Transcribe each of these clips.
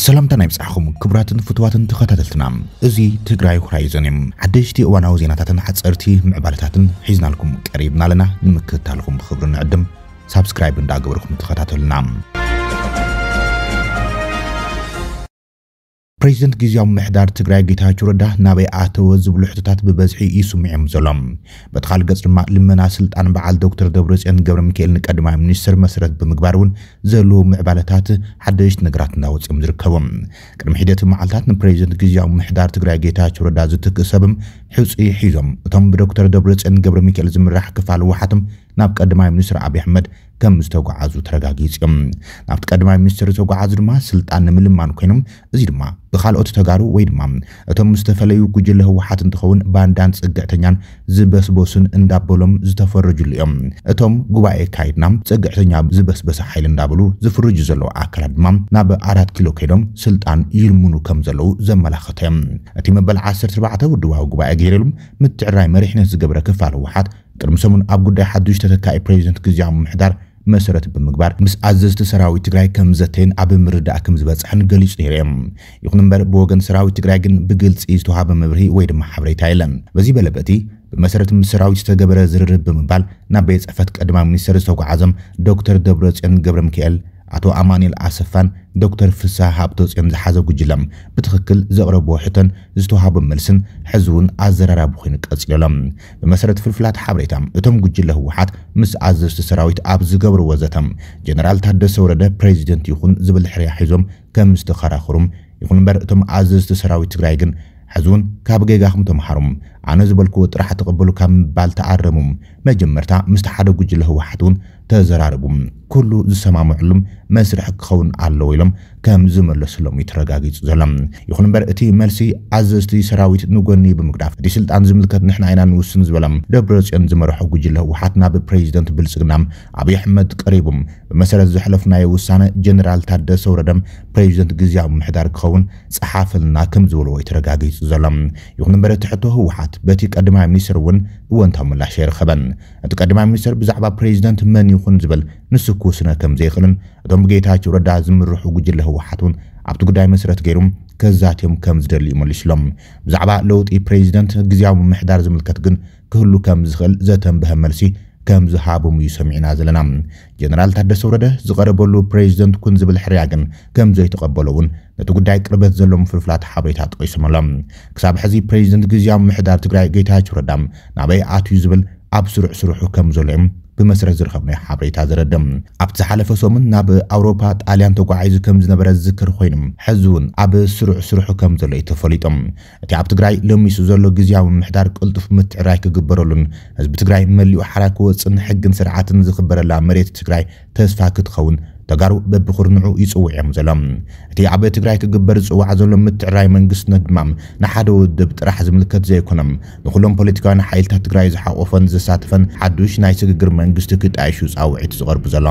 ሰላምታ ናይ ብጻሕኹም ክቡራትን ፍቱዋትን ተኸታተልትና፣ እዚ ትግራይ ሆራይዘን እዮም። ሓደሽቲ እዋናዊ ዜናታትን ሓጸርቲ ምዕባለታትን ሒዝናልኩም ቀሪብና ኣለና። ንምክትታልኩም ብኽብሪ ንዕድም። ሳብስክራይብ እንዳገበርኩም ተኸታተሉና። ፕሬዚደንት ግዝያዊ ምሕዳር ትግራይ ጌታቸው ረዳ ናበይ ኣተወ ዝብሉ ሕቶታት ብበዝሒ ይስምዑ እዮም ዘሎ። በቲ ካልእ ገጽ ድማ ልመና ስልጣን በዓል ዶክተር ደብረጽዮን ገብረ ሚካኤል ንቀዳማይ ሚኒስትር መሰረት ብምግባር እውን ዘለዉ ምዕባለታት ሓደሽቲ ነገራት እንዳወፅኦም ዝርከቡ። ቅድሚ ሒደት መዓልታት ንፕሬዚደንት ግዝያዊ ምሕዳር ትግራይ ጌታቸው ረዳ ዝትክእ ሰብም ሕፁይ ሒዞም እቶም ብዶክተር ደብረጽዮን ገብረ ሚካኤል ዝምራሕ ክፋል ህወሓትም ናብ ቀዳማይ ሚኒስትር ኣብይ ኣሕመድ ከም ዝተጓዓዙ ተረጋጊፁ እዮም። ናብቲ ቀዳማይ ሚኒስትር ዝተጓዓዙ ድማ ስልጣን ንምልማን ኮይኖም፣ እዚ ድማ ብካልኦት ተጋሩ ወይ ድማ እቶም ምስ ተፈለዩ ጉጅለ ህወሓት እንትኸውን ባንዳን ፅግዕተኛን ዝበስበሱን እንዳበሎም ዝተፈረጅሉ እዮም። እቶም ጉባኤ ካይድና ፅግዕተኛ ዝበስበሰ ሓይሊ እንዳበሉ ዝፍርጁ ዘለዉ ኣካላት ድማ ናብ ኣራት ኪሎ ከይዶም ስልጣን ይልምኑ ከም ዘለዉ ዘመላኸተ እዮም። እቲ መበል ዓሰርተ ኣርባዕተ ውድባዊ ጉባኤ ገይረሉ ምትዕራይ መሪሕነት ዝገብረ ክፋል ህወሓት ቅድሚ ሰሙን ኣብ ጉዳይ ሓዱሽ ተተካኢ ፕሬዚደንት ግዝያዊ ምሕዳር መሰረት ብምግባር ምስ ኣዘዝቲ ሰራዊት ትግራይ ከም ዘተየን ኣብ ምርዳእ ከም ዝበፅሐን ገሊፁ ነይሩ እዮም። ይኹን እምበር ብወገን ሰራዊት ትግራይ ግን ብግልፂ ዝተዋሃበ መብርሂ ወይ ድማ ሓበሬታ የለን። በዚ በለ በቲ ብመሰረት ምስ ሰራዊት ዝተገበረ ዝርርብ ብምባል ናብ ቤት ፅሕፈት ቀዳማይ ሚኒስትር ዝተጓዓዞም ዶክተር ደብረፅዮን ገብረ ሚካኤል፣ ኣቶ ኣማኑኤል ኣሰፋን ዶክተር ፍስሃ ሃብተወፅዮን ዝሓዘ ጉጅለ ብትኽክል ዘቕረብዎ ሕቶን ዝተዋህቦ መልስን ሕዚ እውን ኣዘራራቢ ኮይኑ ቀፂሉ ኣሎ። ብመሰረት ፍልፍላት ሓበሬታ እቶም ጉጅለ ህወሓት ምስ ኣዘዝቲ ሰራዊት ኣብ ዝገብርዎ ዘተ ጀነራል ታደሰ ወረደ ፕሬዚደንት ይኹን ዝብል ሕርያ ሒዞም ከም ዝተኸራኸሩም፣ ይኹን እምበር እቶም ኣዘዝቲ ሰራዊት ትግራይ ግን ሕዚ እውን ካብ ጌጋኹም ተምሃሩ፣ ኣነ ዝበልክዎ ጥራሕ ተቐበሉ ካብ ምባል ተኣረሙ፣ መጀመርታ ምስቲ ሓደ ጉጅለ ህወሓት እውን ተዘራረቡ፣ ኩሉ ዝሰማምዕሉም መስርሕ ክኸውን ኣለዎ ኢሎም ከም ዝመለስሎም እዩ ተረጋጊፁ ዘሎ። ይኹን እምበር እቲ መልሲ ኣዘዝቲ ሰራዊት ንጎኒ ብምግዳፍ እቲ ስልጣን ዝምልከት ንሕና ኢና ንውስን ዝበሎም ደብረፅዮን ዝመርሖ ጉጅለ ህወሓት ናብ ፕሬዚደንት ብልፅግና ኣብይ ኣሕመድ ቀሪቡ ብመሰረት ዘሕለፍናዮ ውሳነ ጀነራል ታደሰ ወረደ ፕሬዚደንት ግዝያዊ ምሕዳር ክኸውን ጸሓፈልና ከም ዝበልዎ እዩ ተረጋጊጹ ዘሎ። ይኹን እምበር እቲ ሕቶ ህወሓት በቲ ቀዳማይ ሚኒስትር እውን እወንታዊ ምላሽ ኣይረኸበን። እቲ ቀዳማይ ሚኒስትር ብዛዕባ ፕሬዚደንት መን ይኹን ዝብል ንሱ ክውስነ ከም ዘይኽእልን እቶም ብጌታቸው ረዳ ዝምርሑ ጉጅለ ህወሓት እውን ኣብቲ ጉዳይ መሰረት ገይሩ ከዛትዮም ከም ዝደሊ እዩ መሊሱሎም። ብዛዕባ ለውጢ ፕሬዚደንት ግዝያዊ ምምሕዳር ዝምልከት ግን ክህሉ ከም ዝኽእል ዘተንበሀ መልሲ ከም ዝሃቦም እዩ ሰሚዕና ዘለና። ጀነራል ታደሰ ወረደ ዝቐረበሉ ፕሬዚደንት ኩን ዝብል ሕርያ ግን ከም ዘይተቐበሎ እውን ነቲ ጉዳይ ቅርበት ዘለዎም ፍልፍላት ሓበሬታ ጠቒሶም ኣለዉ። ክሳብ ሕዚ ፕሬዚደንት ግዝያዊ ምሕዳር ትግራይ ጌታቸው ረዳ ናበይ ኣትዩ ዝብል ኣብ ስሩዕ ስርሑ ከም ዘሎ እዮም ብመሰረት ዝረኸብናዮ ሓበሬታ ዘረድእ። ኣብቲ ዝሓለፈ ሰሙን ናብ ኣውሮፓ ጣልያን ተጓዒዙ ከም ዝነበረ ዝዝከር ኮይኑ፣ ሕዚ እውን ኣብ ስሩዕ ስርሑ ከም ዘሎ እዩ ተፈሊጡ። እቲ ኣብ ትግራይ ለሚሱ ዘሎ ግዝያዊ ምምሕዳር ቅልጡፍ ምትዕራይ ክግበረሉን ህዝቢ ትግራይ መሊኡ ሓራ ክወፅን ሕግን ስርዓትን ዝኽበረላ መሬት ትግራይ ተስፋ ክትኸውን ተጋሩ በብኹርንዑ ይፅውዕ እዮም ዘሎ። እቲ ኣብ ትግራይ ክግበር ዝፅዋዕ ዘሎ ምትዕራይ መንግስትነት ድማ ንሓደ ውድብ ጥራሕ ዝምልከት ዘይኮነ፣ ንኩሎም ፖለቲካውያን ሓይልታት ትግራይ ዝሓቆፈን ዘሳተፈን ሓዱሽ ናይ ስግግር መንግስቲ ክጣየሹ ፃውዒት ዝቐርቡ ዘሎ።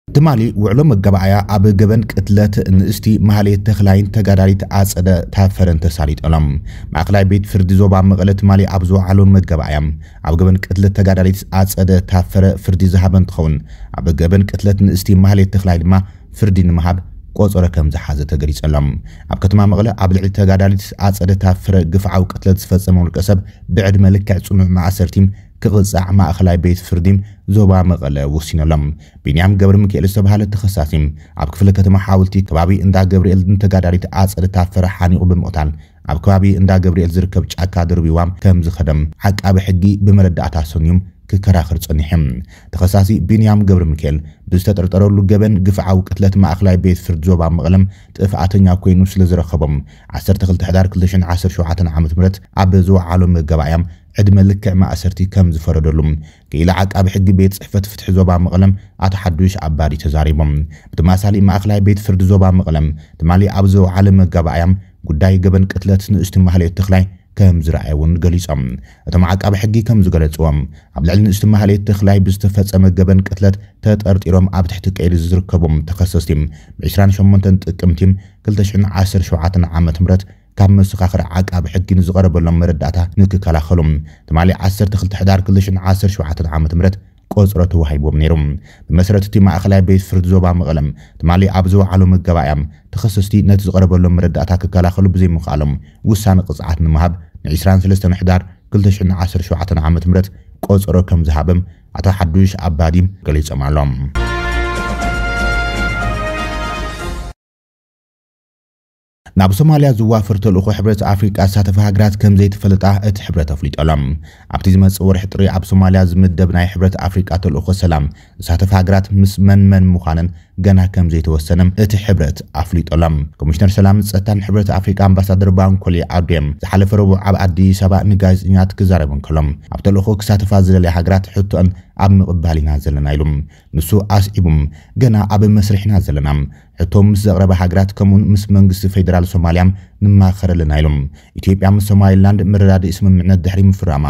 ትማሊ ውዕሎ መጋባእያ ኣብ ገበን ቅትለት ንእስቲ ማህሌት ተኽላይን ተጋዳሊት ኣጸደ ታፈረን ተሳሊጦም። ማእከላይ ቤት ፍርዲ ዞባ መቐለ ትማሊ ኣብ ዝወዓሎ መጋባእያ ኣብ ገበን ቅትለት ተጋዳሊት ኣጸደ ታፈረ ፍርዲ ዝሃበ እንትኸውን፣ ኣብ ገበን ቅትለት ንእስቲ ማህሌት ተኽላይ ድማ ፍርዲ ንምሃብ ቆጸሮ ከም ዝሓዘ ተገሊጸሎም። ኣብ ከተማ መቐለ ኣብ ልዕሊ ተጋዳሊት ኣጸደ ታፈረ ግፍዓዊ ቅትለት ዝፈጸመ ውልቀ ሰብ ብዕድመ ልክዕ ጽኑዕ ማእሰርቲ ክቕጻዕ ማእከላይ ቤት ፍርዲ ዞባ መቐለ ወሲነሎም። ቢንያም ገብረ ሚካኤል ዝተባህለ ተኸሳሲ ኣብ ክፍለ ከተማ ሓወልቲ ከባቢ እንዳ ገብርኤል ንተጋዳሊት ኣጸደ ታፈረ ሓኒቑ ብምቕታል ኣብ ከባቢ እንዳ ገብርኤል ዝርከብ ጫካ ድርቢዋ ከም ዝኸደም ዓቃቢ ሕጊ ብመረዳእታ ሰንዮም ክከራኸር ጸኒሑ። ተኸሳሲ ቢንያም ገብረ ሚካኤል ብዝተጠርጠረሉ ገበን ግፍዓዊ ቅትለት ማእከላይ ቤት ፍርዲ ዞባ መቐለም ጥፍኣተኛ ኮይኑ ስለ ዝረኸቦም ዓሰርተ ክልተ ሕዳር ክልተ ሽሕን ዓሰርተ ሸውዓተን ዓመተ ምህረት ኣብ ዝወዓሎ መጋባእያ ዕድመ ልክዕ ማእሰርቲ ከም ዝፈረደሉ ክኢላ ዓቃቢ ሕጊ ቤት ጽሕፈት ፍትሒ ዞባ መቐለም ኣቶ ሓዱሽ ኣባዲ ተዛሪቦም። ብተመሳሳሊ ማእከላይ ቤት ፍርዲ ዞባ መቐለም ትማሊ ኣብ ዝወዓለ መጋባእያ ጉዳይ ገበን ቅትለት ንእስቲ ማህሌት ተኽላይ ከም ዝረኣየ እውን ገሊጾም። እቶም ዓቃቢ ሕጊ ከም ዝገለጽዎም ኣብ ልዕሊ ንእስቲ ማህሌት ተኽላይ ብዝተፈጸመ ገበን ቅትለት ተጠርጢሮም ኣብ ትሕቲ ቀይዲ ዝርከቡ ተኸሰስቲ ብ ዕስራን ሸሞንተን ጥቅምቲ ክልተ ሽሕን ዓሰርተ ሸውዓተን ዓመተ ምህረት ካብ መሰኻኽር ዓቃቢ ሕጊ ንዝቐረበሎም መረዳእታ ንክከላኸሉ ትማሊ ዓሰርተ ክልተ ሕዳር ክልተ ሽሕን ዓሰርተ ሸውዓተን ዓመተ ምህረት ቆጽሮ ተዋሂብዎም ነይሩ። ብመሰረት እቲ ማእኸላይ ቤት ፍርዲ ዞባ መቐለም ትማሊ ኣብ ዝወዓሎ መጋባእያ፣ ተኸሰስቲ ነቲ ዝቐረበሎም መረዳእታ ክከላኸሉ ብዘይምኽኣሎም ውሳነ ቅጽዓት ንምሃብ ን ዕስራን ሰለስተን ሕዳር ክልተ ሽሕን ዓሰርተ ሸውዓተን ዓመተ ምህረት ቆጸሮ ከም ዝሃበም ኣቶ ሓዱሽ ኣባዲ ገሊጾም ኣሎም። ናብ ሶማልያ ዝዋፈር ተልእኾ ሕብረት ኣፍሪቃ ዝሳተፋ ሃገራት ከም ዘይተፈለጣ እቲ ሕብረት ኣፍሊጡ ኣሎ። ኣብቲ ዝመጽእ ወርሒ ጥሪ ኣብ ሶማልያ ዝምደብ ናይ ሕብረት ኣፍሪቃ ተልእኾ ሰላም ዝሳተፋ ሃገራት ምስ መን መን ምዃነን ገና ከም ዘይተወሰነ እቲ ሕብረት ኣፍሊጡ ኣሎ። ኮሚሽነር ሰላምን ጸጥታን ሕብረት ኣፍሪቃ ኣምባሳደር ባንኮሊ ኣዱየም ዝሓለፈ ረቡዕ ኣብ ኣዲስ ኣበባ ንጋዜጠኛታት ክዛረብ እንከሎ፣ ኣብ ተልእኾ ክሳተፋ ዝደልያ ሃገራት ሕቶአን ኣብ ምቕባል ኢና ዘለና ኢሉ። ንሱ ኣስዒቡ፣ ገና ኣብ መስርሕ ኢና ዘለና። ሕቶ ምስ ዘቕረባ ሃገራት ከምኡውን ምስ መንግስቲ ፌደራል ሶማልያ ንማኸር ኣለና ኢሉ። ኢትዮጵያ ምስ ሶማሊላንድ መረዳድኢ ስምምዕነት ድሕሪ ምፍራማ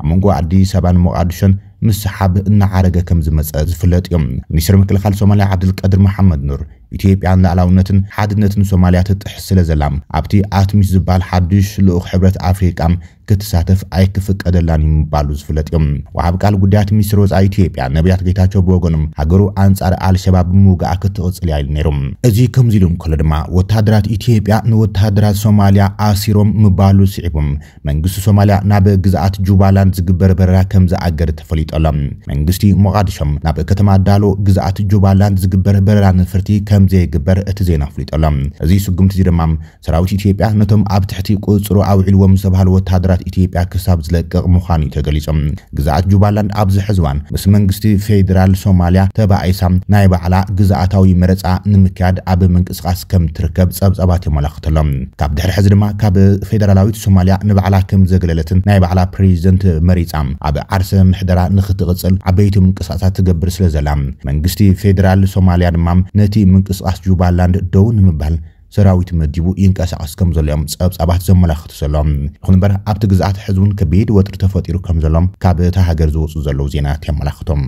ኣብ መንጎ ኣዲስ ኣበባን ሞቓዲሾን ምስሓብ እናዓረገ ከም ዝመጸ ዝፍለጥ እዩ። ሚኒስትር ምክልኻል ሶማልያ ዓብዱልቀድር መሓመድ ኑር ኢትዮጵያ ንሉዓላውነትን ሓድነትን ሶማልያ ትጥሕስ ስለ ዘላ ኣብቲ ኣትሚስ ዝበሃል ሓዱሽ ልኡኽ ሕብረት ኣፍሪቃ ክትሳተፍ ኣይክፍቀደላን እዩ ምባሉ ዝፍለጥ እዩ። ወሃቢ ቃል ጉዳያት ሚኒስትር ወጻኢ ኢትዮጵያ ነቢያት ጌታቸው ብወገኖም ሃገሩ ኣንጻር ኣልሸባብ ብምውጋኣ ክትቕጽል እያ ኢሉ ነይሩ። እዚ ከምዚ ኢሉ እንከሎ ድማ ወታደራት ኢትዮጵያ ንወታደራት ሶማልያ ኣሲሮም ምባሉ ስዒቡ መንግስቲ ሶማልያ ናብ ግዝኣት ጁባላንድ ዝግበር በረራ ከም ዝኣገደ ተፈሊጡ ኣሎ። መንግስቲ ሞቓዲሾ ናብ ከተማ ዳሎ ግዝኣት ጁባላንድ ዝግበር በረራ ነፈርቲ ከም ዘይግበር እቲ ዜና ኣፍሊጡ ኣሎ። እዚ ስጉምቲ እዚ ድማ ሰራዊት ኢትዮጵያ ነቶም ኣብ ትሕቲ ቁጽሩ ኣውዒልዎም ዝተባህሉ ወታደራት ኢትዮጵያ ክሳብ ዝለቅቕ ምዃኑ እዩ ተገሊጹ። ግዝኣት ጁባላንድ ኣብዚ ሕዚ እዋን ምስ መንግስቲ ፌደራል ሶማልያ ተባኢሳ ናይ ባዕላ ግዝኣታዊ መረጻ ንምክያድ ኣብ ምንቅስቓስ ከም ትርከብ ጸብጻባት የመላኽት ኣሎ። ካብ ድሕሪ ሕዚ ድማ ካብ ፌደራላዊት ሶማልያ ንባዕላ ከም ዘግለለትን ናይ ባዕላ ፕሬዚደንት መሪጻ ኣብ ዓርሰ ምሕደራ ንኽትቕጽል ዓበይቲ ምንቅስቓሳት ትገብር ስለ ዘላ መንግስቲ ፌደራል ሶማልያ ድማ ነቲ ምንቅስቓስ ጁባላንድ ደው ንምባል ሰራዊት መዲቡ ይንቀሳቐስ ከም ዘሎ እዮም ጸብጻባት ዘመላኽቱ ዘለዉ። ይኹን እምበር ኣብቲ ግዝኣት ሕዚ እውን ከቢድ ወጥሪ ተፈጢሩ ከም ዘሎ ካብ እታ ሃገር ዝወፁ ዘለዉ ዜናታት የመላኽቶም።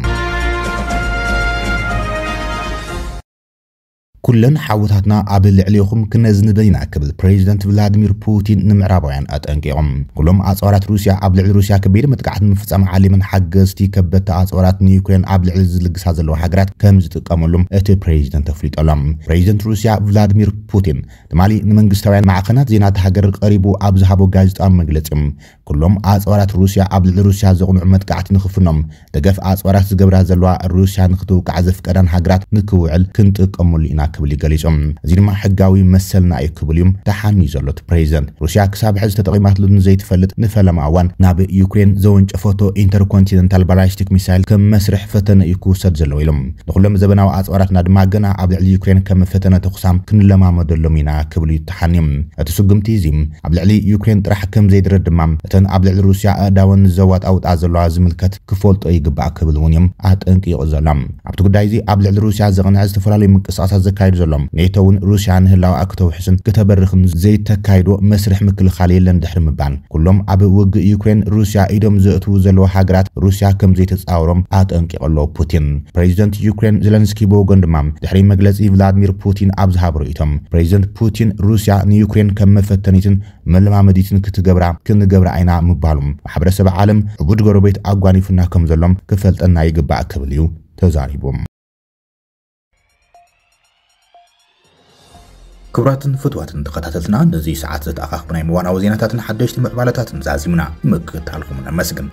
ኩለን ሓውታትና ኣብ ልዕሌኹም ክነዝንበን ኢና ክብል ፕሬዚደንት ቭላድሚር ፑቲን ንምዕራባውያን ኣጠንቂቖም። ኩሎም ኣፅዋራት ሩስያ ኣብ ልዕሊ ሩስያ ከቢድ መጥቃዕቲ ንምፍፃም ዓሊመን ሓገዝቲ ከበድቲ ኣፅዋራት ንዩክሬን ኣብ ልዕሊ ዝልግሳ ዘለዋ ሃገራት ከም ዝጥቀመሉም እቲ ፕሬዚደንት ኣፍሊጡ ኣሎ። ፕሬዚደንት ሩስያ ቭላድሚር ፑቲን ትማሊ ንመንግስታውያን ማዕኸናት ዜና እታ ሃገር ቀሪቡ ኣብ ዝሃቦ ጋዜጣዊ መግለፂ፣ ኩሎም ኣፅዋራት ሩስያ ኣብ ልዕሊ ሩስያ ዘቕንዑ መጥቃዕቲ ንኽፍኖም ደገፍ ኣፅዋራት ዝገብራ ዘለዋ ሩስያ ንክትውቃዕ ዘፍቀዳን ሃገራት ንክውዕል ክንጥቀመሉ ኢና ክብል እዩ ገሊጹ። እዚ ድማ ሕጋዊ መሰልና እዩ ክብል እዩ ተሓንዩ ዘሎ እቲ ፕሬዚደንት። ሩስያ ክሳብ ሕዚ ተጠቒማትሉ ንዘይትፈልጥ ንፈለማ እዋን ናብ ዩክሬን ዘወንጨፈቶ ኢንተርኮንቲነንታል ባላስቲክ ሚሳይል ከም መስርሕ ፈተነ እዩ ክውሰድ ዘለዎ ኢሎም። ንኹሎም ዘበናዊ ኣፅዋራትና ድማ ገና ኣብ ልዕሊ ዩክሬን ከም ፈተነ ተኹሳም ክንለማመደሎም ኢና ክብል እዩ ተሓንዩ። እቲ ስጉምቲ እዚ ኣብ ልዕሊ ዩክሬን ጥራሕ ከም ዘይድረር ድማ እተን ኣብ ልዕሊ ሩስያ ኣእዳወን ዘዋጣውጣ ዘለዋ ዝምልከት ክፈልጦ ይግባእ ክብል እውን እዮም ኣጠንቂቑ ዘሎ። ኣብቲ ጉዳይ እዚ ኣብ ልዕሊ ሩስያ ዘቕንዐ ዝተፈላለዩ ምንቅስቓሳት ዘካይዱ ዘሎ ኔቶ እውን ሩስያ ንህላወኣ ክተውሕስን ክተበርኽን ዘይተካይዶ መስርሕ ምክልኻል የለን ድሕሪ ምባል ኩሎም ኣብ ውግእ ዩክሬን ሩስያ ኢዶም ዘእትዉ ዘለዉ ሃገራት ሩስያ ከም ዘይተፃወሮም ኣጠንቂቑ ኣሎ ፑቲን። ፕሬዚደንት ዩክሬን ዘለንስኪ ብወገኑ ድማ ድሕሪ መግለፂ ቭላድሚር ፑቲን ኣብ ዝሃቦ ርእይቶ ፕሬዚደንት ፑቲን ሩስያ ንዩክሬን ከም መፈተኒትን መለማመዲትን ክትገብራ ክንገብራ ኢና ምባሉ ማሕበረሰብ ዓለም ዕቡድ ጎረቤት ኣጓኒፉና ከም ዘሎም ክፈልጠና ይግባእ ክብል እዩ ተዛሪቡ። ክቡራትን ፍትዋትን ተኸታተልትና ነዚ ሰዓት ዝተኣኻኽቡ ናይ ምዋናዊ ዜናታትን ሓደሽቲ ምዕባለታትን ዛዚምና ምክትታልኩም ነመስግን።